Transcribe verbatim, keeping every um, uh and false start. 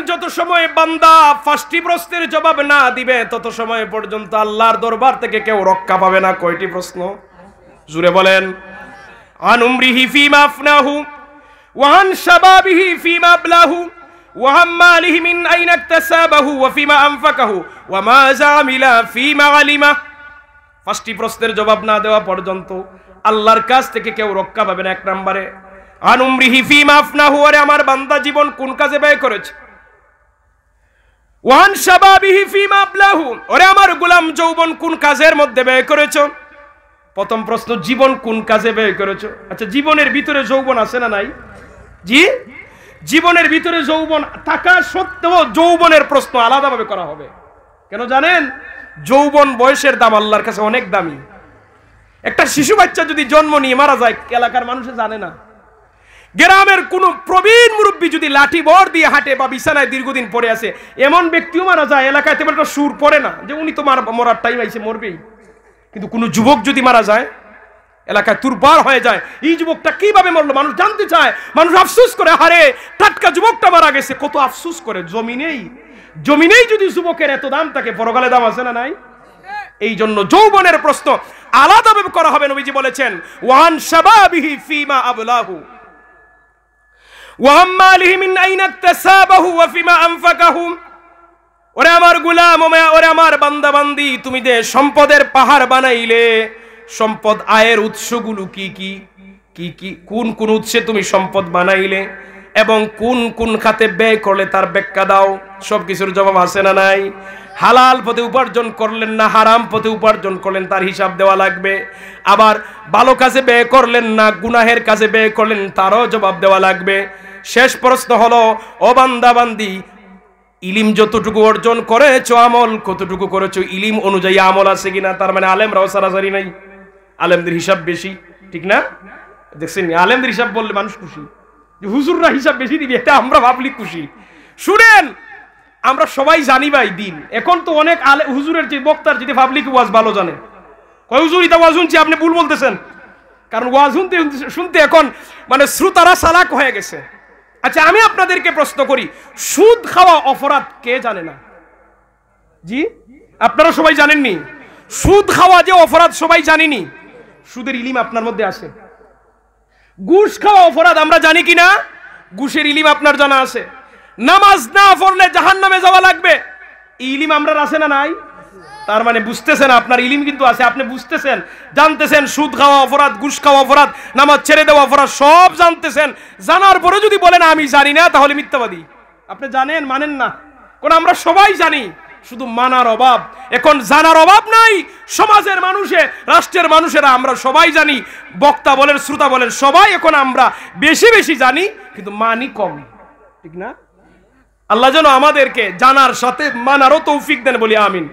যত সময় বান্দা পাঁচটি প্রশ্নের জবাব না দিবে, তত সময় পর্যন্ত আল্লাহর দরবার থেকে কেউ রক্ষা পাবে না। কয়টি প্রশ্ন? জুরে বলেন। আন উমরিহি ফিমা আফনাহু, ওয়া আন শাবাবিহি ফিমা আবlahu, ওয়া আন মালিহি মিন আইনা ইকতাসাবাহু, ওয়া ফিমা আনফাকাহু, ওয়া মাযা আমিলা ফিমা আলিমা। পাঁচটি প্রশ্নের জবাব না দেওয়া পর্যন্ত আল্লাহর কাছ থেকে কেউ রক্ষা পাবে না। এক নম্বরে, আন উমরিহি ফিমা আফনাহু, ওরে আমার বান্দা, জীবন কোন কাজে ব্যয় করেছে? ওয়ান শাবাবিহি ফিমা আবlahu, ওরে আমার গোলাম, যৌবন কোন কাজের মধ্যে ব্যয় করেছো? প্রথম প্রশ্ন, জীবন কোন কাজে ব্যয় করেছো? আচ্ছা, জীবনের ভিতরে যৌবন আছে না নাই? জি, জীবনের ভিতরে যৌবন থাকা সত্ত্বেও যৌবনের প্রশ্ন আলাদাভাবে করা হবে। কেন জানেন? যৌবন বয়সের দাম আল্লাহর কাছে অনেক দামি। একটা শিশু বাচ্চা যদি জন্ম নিয়ে মারা যায়, এলাকার মানুষে জানে না। গ্রামের কোনো প্রবীণ মুরব্বী যদি লাঠি ভর দিয়ে হাঁটে বা বিছানায় দীর্ঘদিন পড়ে আছে, এমন ব্যক্তিও মারা যায়, এলাকায় তেমন একটা সুর পড়ে না যে উনি তো মার-, মরার টাইম আইছে, মরবেই। কিন্তু কোনো যুবক যদি মারা যায়, এলাকায় তুরপার হয়ে যায়, এই যুবকটা কিভাবে মরলো, মানুষ জানতে চায়, মানুষ আফসোস করে, হারে, টাটকা যুবকটা মারা গেছে, কত আফসোস করে। জমিনেই, জমিনেই যদি যুবকের এত দাম থাকে, পরকালে দাম আছে না নাই? এই জন্য যৌবনের প্রশ্ন আলাদাভাবে করা হবে। নবীজি বলেছেন, ওয়ান শাবাবিহি ফিমা আবলাহু, ওয়া আন মালিহি মিন আইনা ইকতাসাবাহু, ওয়া ফিমা আনফাকাহু। ওরে আমার গোলাম, ও মা-, ওরে আমার বান্দা বান্দি, তুমি যে সম্পদের পাহাড় বানাইলে, সম্পদ আয়ের উৎসগুলো কি কি? কি কি, কোন কোন উৎসে তুমি সম্পদ বানাইলে এবং কোন কোন খাতে ব্যয় করলে, তার ব্যাখ্যা দাও। সব কিছুর জবাব আছে না নাই? হালাল পথে উপার্জন করলেন না, হারাম পথে উপার্জন করলেন, তার হিসাব দেওয়া লাগবে। আবার ভালো কাজে ব্যয় করলেন না, গুনাহের কাজে ব্যয় করলেন, তারও জবাব দেওয়া লাগবে। শেষ প্রশ্ন হলো, ও বান্দা বান্দি, ইলিম যতটুকু অর্জন করেছো, আমল কতটুকু করেছো, ইলিম অনুযায়ী আমল আছে কিনা? তার মানে আলেমরাও সারাসারি নাই, আলেমদের হিসাব বেশি, ঠিক না? দেখছেন নি, আলেমদের হিসাব বললে মানুষ খুশি, যে হুজুররা হিসাব বেশি দিবে, এটা আমরা পাবলিক খুশি। শুনেন, আমরা সবাই জানি ভাই দিন, এখন তো অনেক আলে-, হুজুরের যে বক্তার যদি পাবলিক ওয়াজ ভালো জানে, কয়, "হুজুর, এটা ওয়াজ শুনছি, আপনি ভুল বলতেছেন।" কারণ ওয়াজ শুনতে শুনতে এখন মানে শ্রোতারা চালাক হয়ে গেছে। আচ্ছা, আমি আপনাদেরকে প্রশ্ন করি, সুদ খাওয়া অপরাধ কে জানে না? জি, আপনারা সবাই জানেননি? সুদ খাওয়া যে অপরাধ সবাই জানিনি? সুদের ইলিম আপনার মধ্যে আছে। ঘুষ খাওয়া অপরাধ আমরা জানি কি না? ঘুষের ইলিম আপনার জানা আছে। নামাজ না পড়লে জাহান্নামে যাওয়া লাগবে, এই ইলিম আমরার আছে না নাই? তার মানে বুঝতেছেন, আপনার ইলিম কিন্তু আছে, আপনি বুঝতেছেন, জানতেছেন, সুদ খাওয়া অপরাধ, ঘুষ খাওয়া অপরাধ, নামাজ ছেড়ে দেওয়া অপরাধ, সব জানতেছেন। জানার পরে যদি বলেন আমি জানি না, তাহলে মিথ্যাবাদী। আপনি জানেন, মানেন না, কারণ আমরা সবাই জানি, শুধু মানার অভাব। এখন জানার অভাব নাই, সমাজের মানুষে, রাষ্ট্রের মানুষেরা আমরা সবাই জানি, বক্তা বলেন, শ্রোতা বলেন, সবাই এখন আমরা বেশি বেশি জানি, কিন্তু মানি কম, ঠিক না? আল্লাহ যেন আমাদেরকে জানার সাথে মানারও তৌফিক দেন, বলি আমিন।